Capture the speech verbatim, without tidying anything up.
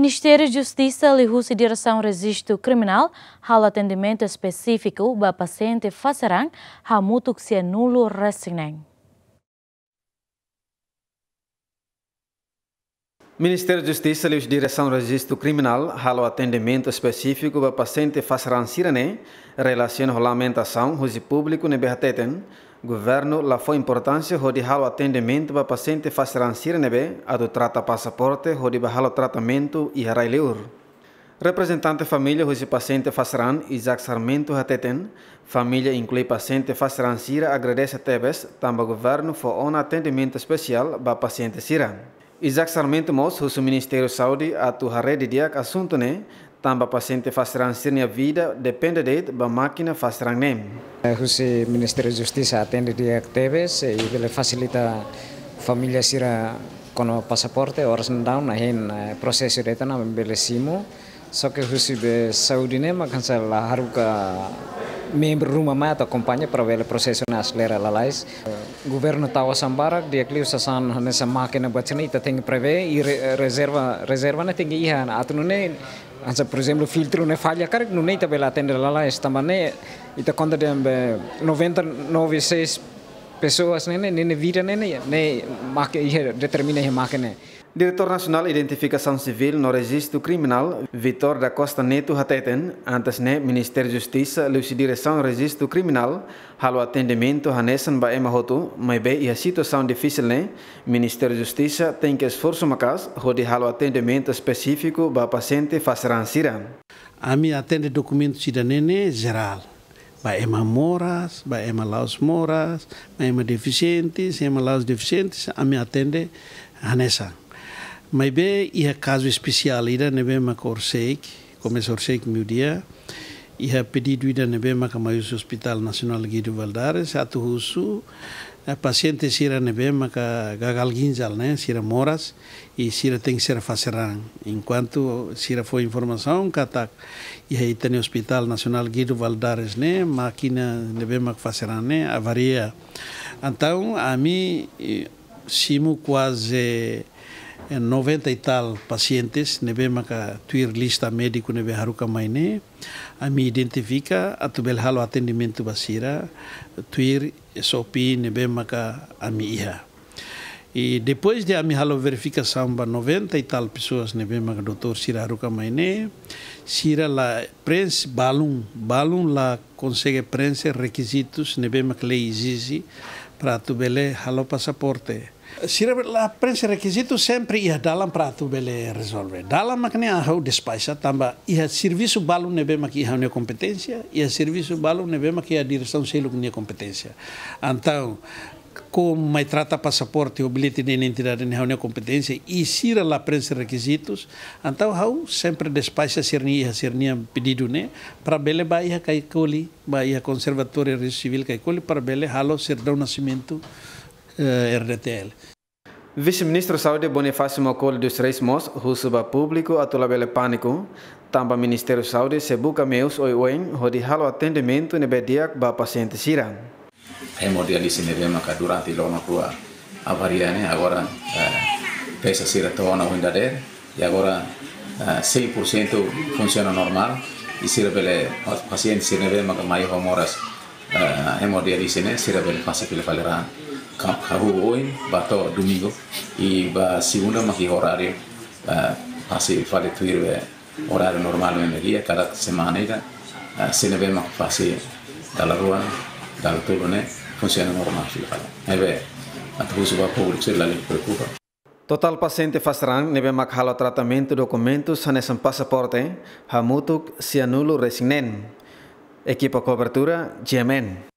Ministériu Justisa liuhusi Diresaun Rejistu Kriminál halo atendimentu espesífiku ba pasiente fase raan hamutuk sianulu-resin-neen. Ministériu Justisa liuhusi Diresaun Rejistu Kriminál halo atendimentu espesífiku ba pasiente fase raan sira-ne'e, relasiona ho lamentasaun husi públiku ne'ebé hateten governu la fó importánsia hodi halo atendimentu ba pasiente fase raan sira ne'ebé atu trata pasaporte hodi bá halo tratamentu iha rai-liur. Reprezentante família husi pasiente fase raan, Isaac Sarmento, hateten, família inklui pasiente fase raan sira agradese tebes tanba governu fó ona atendimentu espesiál ba pasiente sira. Isaac Sarmento mós husu Ministériu Saúde atu haree didi'ak asuntu ne'e, tanba pasiente fase raan sira-nia vida depende de'it ba mákina fase raan ne'e. Eh, husi Ministériu Justisa atende di'ak tebes, eh, i bele fasilita família sira kona pasaporte, oras daudaun, hein, eh, prosesu de'it ona bele simu. Só ke husi be saúde ne'e mak hanesan la haruka membru ruma mai atu akompaña para bele prosesu ne'e aselera lalais. Governu tau osan barak, di'ak liu sasán hanesan mákina buat sira-ne'e ita tenke prevee i re-, rezerva, rezerva ne'e tenke iha, atu nune'e hanesan, por ezemplu, filtru ne'e falla karik, nune'e ita bele atende lalais, tanba ne'e ita konta dehan be noventa e nove seis pessoas ne'e, ne'e, ne'e, ne'e vida ne'e, ne'e, ne'e mákina iha, determina iha mákina ne'e. Diretór Nasionál Identifikasaun Sivíl no Rejistu Kriminál, Vitor da Costa Neto, hateten, antes ne'e Ministériu Justisa liuhusi Diresaun Rejistu Kriminál halo atendimentu hanesan ba ema hotu, maibé iha situasaun difisil ne'e, Ministériu Justisa tenke esforsu maka'as hodi halo atendimentu espesífiku ba pasiente fase raan sira. Ami atende dokumentu sira-ne'e ne'e jerál. Ba ema moras, ba ema la'ós moras, ba ema defisientes, ema la'ós defisientes, ami atende hanesan. Maibé iha kazu espesiál ida ne'ebé maka orsida, komesa orsida meiudia, iha pedidu ida ne'ebé maka mai husi Hospital Nasionál Guido Valadares, atu husu, eh, pasiente sira ne'ebé maka gagal ginjal ne'e, sira moras, i sira tenke ser fase raan. Enkuantu sira fó informasaun katak iha ita-nia Hospital Nasionál Guido Valadares ne'e, mákina ne'ebé mak fase raan ne'e avaria. Entaun, ami, eh, simu kuaze, eh, noventa e tal pasientes ne'ebé maka tuir lista médiku ne'ebé haruka mai ne'e, ami identifika atu bele halo atendimentu ba sira, tuir S O P ne'ebé maka ami iha. I depois de ami halo verifikasaun ba noventa e tal pessoas ne'ebé maka doutór sira haruka mai ne'e, sira la preenxe balun, balun la konsege preenxe rekizitus ne'ebé maka lei ezije para atu bele halo pasaporte. Sira la preenxe rekizitu, sempre iha dalan para atu bele rezolve. Dalan mak ne'e ha'u despaxa tanba iha servisu balun ne'ebé mak iha ha'u-nia kompeténsia, iha servisu balun ne'ebé mak iha diresaun seluk nia kompeténsia. Entaun, kona-ba trata pasaporte ou billete de identidade ne'e ha'u-nia kompeténsia, i sira la preenxe rekizitus, entaun ha'u sempre despaxa sira-nia, iha sira-nia pedidu ne'e, para bele bá iha Caicoli, bá iha Konservatóriu Rejistu Sivíl Caicoli, para bele halo sertidão de nascimento, eh, R D T L. Vise-Ministru Saúde Bonifácio Maukoli dos Reis mós husu ba públiku atu labele pániku, tanba Ministériu Saúde sei buka meius oioin hodi halo atendimentu ne'ebé di'ak ba pasiente sira. Hemodiálise ne'ebé maka durante loron rua avaria ne'e, agora, eh, pesa sira to'o ona ohin dadeer, i agora, eh, cem por cento funsiona normál, i sira bele, pasiente sira ne'ebé maka mai ho moras, eh, hemodiálise ne'e, sira bele fase fila fali raan. Ka-, hahú ohin, bá to'o domingu, i ba segunda mak iha oráriu, eh, fase fali tuir be oráriu normál ne'ebé iha kada semana ida, eh, sira ne'ebé mak fase dala rua, dala tolu ne'e, funsiona normál fila fali. Ne'ebé, atu husu ba públiku sira lalika preokupa. Totál pasiente fase raan ne'ebé mak halo tratamentu dokumentus hanesan pasaporte, hamutuk sianulu-resin-neen. Ekipa kobertura, G M N.